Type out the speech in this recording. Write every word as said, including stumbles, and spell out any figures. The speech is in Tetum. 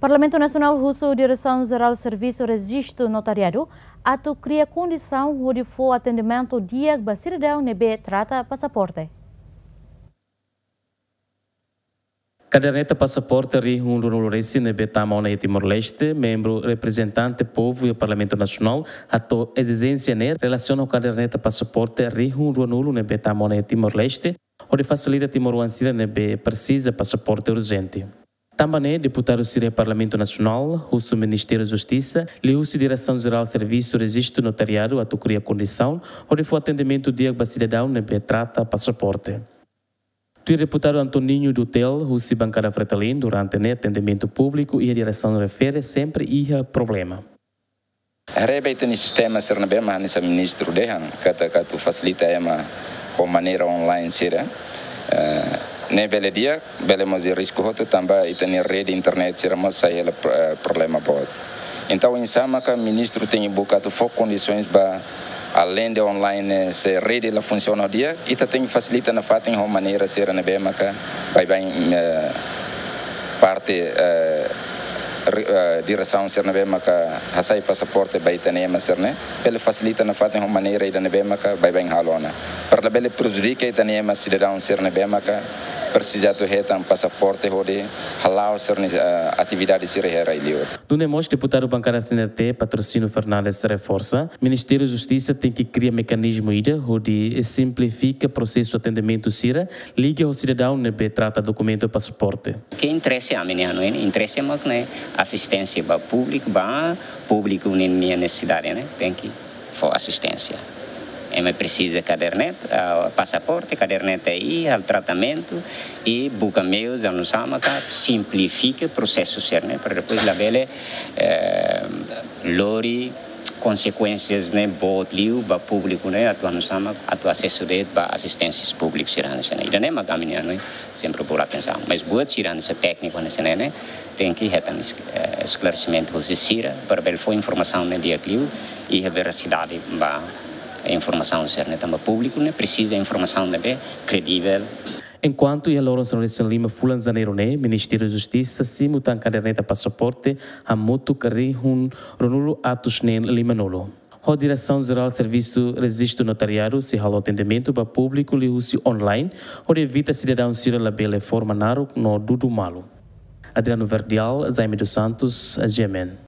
Parlamentu Nasionál husu Diresaun Jerál Servisu Rejistu Notariadu atu kria kondisaun hodi fó atendimentu di'ak ba sidadaun ne'ebé trata pasaporte. Kaderneta pasaporte rihun ruanulu resin ne'ebé tama ona iha Timor-Leste, membru reprezentante povu iha Parlamentu Nasionál hato'o ezijénsia ne'e relasiona ho kaderneta pasaporte rihun ruanulu ne'ebé tama ona iha Timor-Leste, hodi fasilita timoroan sira ne'ebé presiza pasaporte urjente. Tanba ne'e, deputadu sira iha Parlamentu Nasionál husu Ministériu Justisa liuhusi Diresaun Jerál Servisu Rejistu Notariadu atu kria kondisaun hodi fó atendimentu di'ak ba sidadaun ne'ebé trata pasaporte. Tuir deputadu Antoninho Dutel, husi bankada Fretilin, durante ne'e atendimentu públiku iha diresaun refere sempre iha problema. Haree ba ita-nia sistema sira ne'ebé mak hanesan ministru dehan, katak atu fasilita ema ho maneira online sira. Eh, ne'e bele di'ak, bele mós iha risku hotu tanba ita-nia rede internet sira mós sai hela pro-, eh, problema boot. Entaun, oinsá maka ministru tenke buka atu fó kondisoens ba, além de online, eh, se rede la funsiona di'ak, ita tenke fasilita nafatin ho maneira sira ne'ebé maka baibain, eh, parte, eh, re-, eh, diresaun sira ne'ebé maka hasai pasaporte ba ita-nia ema sira-ne'e, bele fasilita nafatin ho maneira ida ne'ebé maka baibain halo ona. Para labele prejudika ita-nia ema sidadaun sira ne'ebé maka presiza atu hetan pasaporte hodi hala'o sira-nia, eh, atividade sira iha rai-liur. Nune'e mós deputadu bankada C N R T, Patrocínio Fernandes, reforsa, Ministériu Justisa tenke kria mekanizmu ida hodi simplifika prosesu atendimentu sira liga ho sidadaun ne'ebé trata dokumentu pasaporte. Ke interese ami-nian, no, interese mak ne'e asisténsia ba públiku, ba públiku nia nesesidade, ne'e tenke fó asisténsia. Ema presiza kaderneta, ah, pasaporte, kaderneta, i halo tratamentu, i buka meius, oinsá maka simplifika prosesu sira-ne'e, para depois labele, eh, lori konsekuénsias ne'e boot liu ba públiku ne'e, atu oinsá maka atu asesu de'it ba asisténsias públiku sira-ne'e, sira-ne'e. Ida-ne'e mak ami-nia, no, sempre bolu atensaun. Mas buat sira hanesan tékniku hanesan ne'e, ne'e tenke hetan es-, eh, esklaresimentu husi sira, para bele fó informasaun ne'e di'ak liu, i iha verasidade ba informasaun sira-ne'e, tanba públiku ne'e presiza informasaun ne'ebé kredivel. Enkuantu iha loron sanulu-resin-lima fulan Janeiru ne'e, Ministériu Justisa simu tan kaderneta pasaporte hamutuk rihun ruanulu atus neen limanulu. Ho Diresaun Jerál Servisu Rejistu Notariadu sei halo atendimentu ba públiku liuhusi online, hodi evita sidadaun sira labele forma naruk no dudu malu. Adriano Verdial, Jaime dos Santos, G M N.